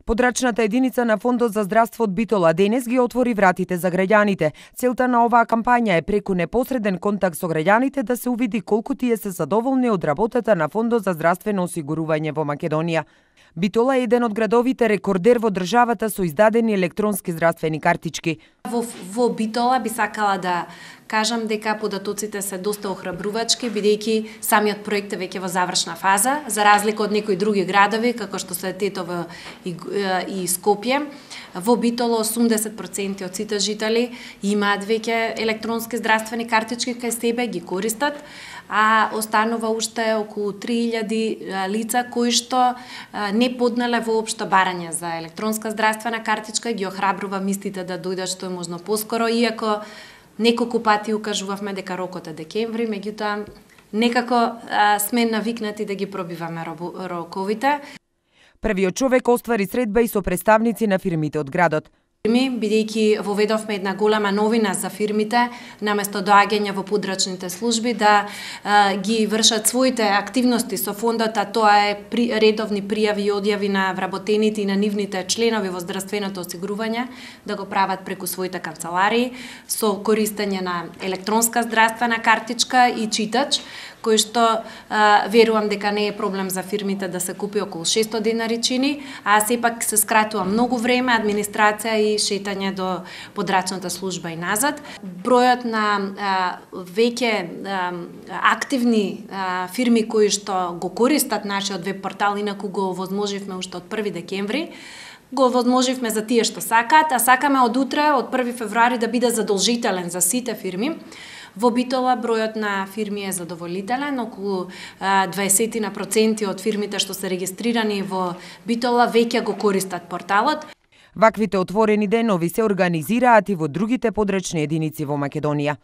Подрачната единица на Фондот за здравство од Битола денес ги отвори вратите за граѓаните. Целта на оваа кампања е преку непосреден контакт со граѓаните да се увиди колку тие се задоволни од работата на Фондот за здравствено осигурување во Македонија. Битола е еден од градовите рекордер во државата со издадени електронски здравствени картички. Во Битола би сакала да кажам дека податоците се доста охрабрувачки, бидејќи самиот проект е веќе во завршна фаза, за разлика од некои други градови, како што се Тетово и Скопје. Во Битола 80% од сите жители имаат веќе електронски здравствени картички кај себе, ги користат, а останува уште околу 3000 лица кои што не поднале воопшто барање за електронска здравствена картичка и ги охрабрувам истите да дојдат што е можно поскоро, иако неколку пати укажувавме дека рокот е декември, меѓутоа некако сме навикнати да ги пробиваме роковите. Првиот човек оствари средба и со представници на фирмите од градот. Бидејќи воведовме една голема новина за фирмите, наместо доаѓање во подрачните служби да ги вршат своите активности со фондот, а тоа е редовни пријави и одјави на вработените и на нивните членови во здравственото осигурување, да го прават преку своите канцеларии, со користење на електронска здравствена картичка и читач, кој што верувам дека не е проблем за фирмите да се купи околу 600 денари чини, а сепак се скратува многу време, администрација и шетање до подрачната служба и назад. Бројот на веќе активни фирми кои што го користат нашиот веб портал, инаку го овозможивме уште од 1 декември, го возможивме за тие што сакаат, а сакаме од утре, од 1 февруари да биде задолжителен за сите фирми. Во Битола бројот на фирми е задоволителен, околу 20% од фирмите што се регистрирани во Битола веќе го користат порталот. Ваквите отворени денови се организираат и во другите подрачни единици во Македонија.